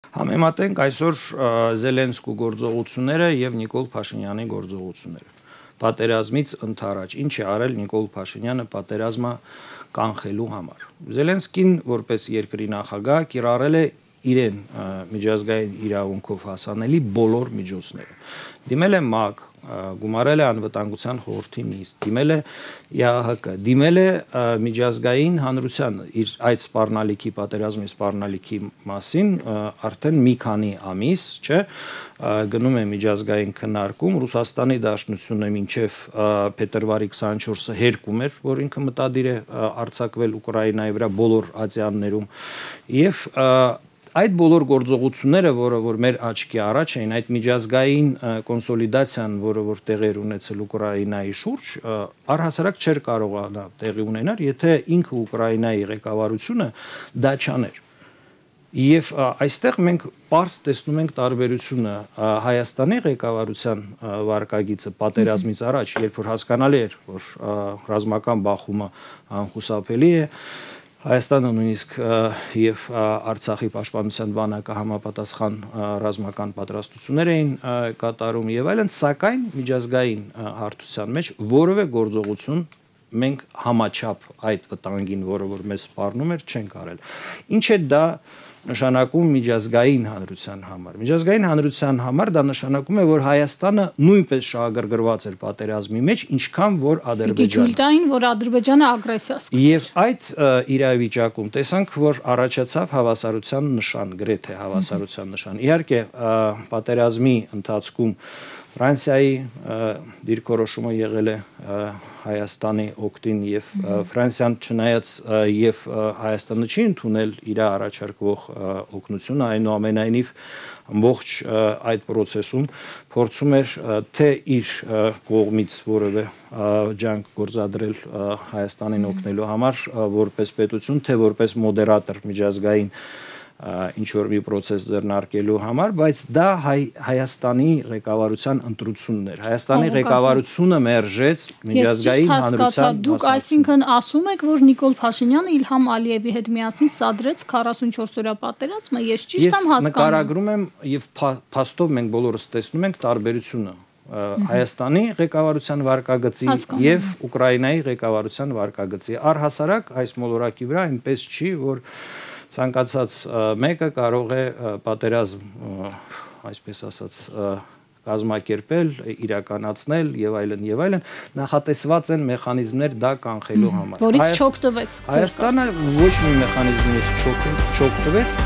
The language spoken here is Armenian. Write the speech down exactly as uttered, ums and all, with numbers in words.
Համեմատենք այսօր Զելենսկու գործողությունները եւ Նիկոլ Փաշինյանի գործողությունները։ Պատերազմից ընդառաջ ինչ է արել Նիկոլ Փաշինյանը պատերազմը կանխելու համար։ Զելենսկին որպես երկրի նախագահ կիրառել է իրեն միջազգային իրավունքով հասանելի բոլոր միջոցները։ Դիմել է ՄԱԿ, գումարել է անվտանգության խորհրդի նիստ, դիմել է ԵԱՀԿ, դիմել է միջազգային հանրությանը իր այդ սպառնալիքի պատերազմի սպառնալիքի մասին արդեն մի քանի ամիս, չէ, գնում է միջազգային քննարկում, Ռուսաստանի Դաշնությունը մինչև փետրվարի քսանչորսը հերկում էր, որ ինքը մտադիր է արձակվել Ուկրաինայի վրա բոլոր ատյաններում եւ այդ բոլոր գործողությունները, որը որ մեր աչքի առաջ էին, այդ միջազգային կոնսոլիդացիան, որը որ տեղի ունեցել Ուկրաինայի շուրջ, առհասարակ չէր կարողանա տեղի ունենալ, եթե ինքը Ուկրաինայի ղեկավարությունը դա չաներ։ Եվ այստեղ մենք պարզ տեսնում ենք տարբերությունը Հայաստանի ղեկավարության վարկագիծը պատերազմից առաջ, երբ որ հասկանալի էր, որ ռազմական բախումը անխուսափելի է, Հայաստանը նույնիսկ եւ Արցախի պաշտպանության բանակը համապատասխան ռազմական պատրաստություններ էին կատարում եւ այլն, սակայն միջազգային հարթության մեջ որևէ գործողություն մենք համաչափ այդ վտանգին, որը որ մեզ սպառնում էր, չենք արել։ Ինչ է դա նշանակում միջազգային հանրության համար։ Միջազգային հանրության համար դա նշանակում է, որ Հայաստանը նույնպես շահագրգռված էր պատերազմի մեջ, ինչքան որ Ադրբեջանը։ Դիտույլտային, որ Ադրբեջանը ագրեսիա սկսեց։ Եվ այդ իրավիճակում տեսանք, որ առաջացավ հավասարության նշան, գրեթե հավասարության նշան։ Իհարկե, պատերազմի ընթացքում Ֆրանսիայի դիրքորոշումը եղել է Հայաստանի օգտին եւ Ֆրանսիան չնայած եւ Հայաստանը չի ընդունել իր առաջարկվող օգնությունը, այնուամենայնիվ ամբողջ այդ process-ում փորձում էր թե իր կողմից որևէ ջանք գործադրել Հայաստանին օգնելու համար որպես պետություն, թե որպես մոդերատոր միջազգային ինչ որ մի process ձեռնարկելու համար, բայց դա Հայաստանի ղեկավարության ընտրությունն էր։ Հայաստանի ղեկավարությունը մերժեց միջազգային հանրության։ Դուք այսինքն ասում եք, որ Նիկոլ Փաշինյանը Իլհամ Ալիևի հետ միասին սադրեց քառասունչորս օրյա պատերազմը, ես ճիշտ եմ հասկանում։ Ես նկարագրում եմ եւ փաստով մենք բոլորս տեսնում ենք տարբերությունը Հայաստանի ղեկավարության վարկագծի եւ Ուկրաինայի ղեկավարության վարկագծի։ Առհասարակ այս մոլորակի վրա այնպես չի, որ ցանկացած մեկը կարող է պատերազմ, այսպես ասած, կազմակերպել, իրականացնել եւ այլն եւ այլն, նախատեսված են մեխանիզմներ դա կանխելու համար։ Որից չօգտվեց։ Հայաստանը ոչ մի մեխանիզմից չօգտվեց,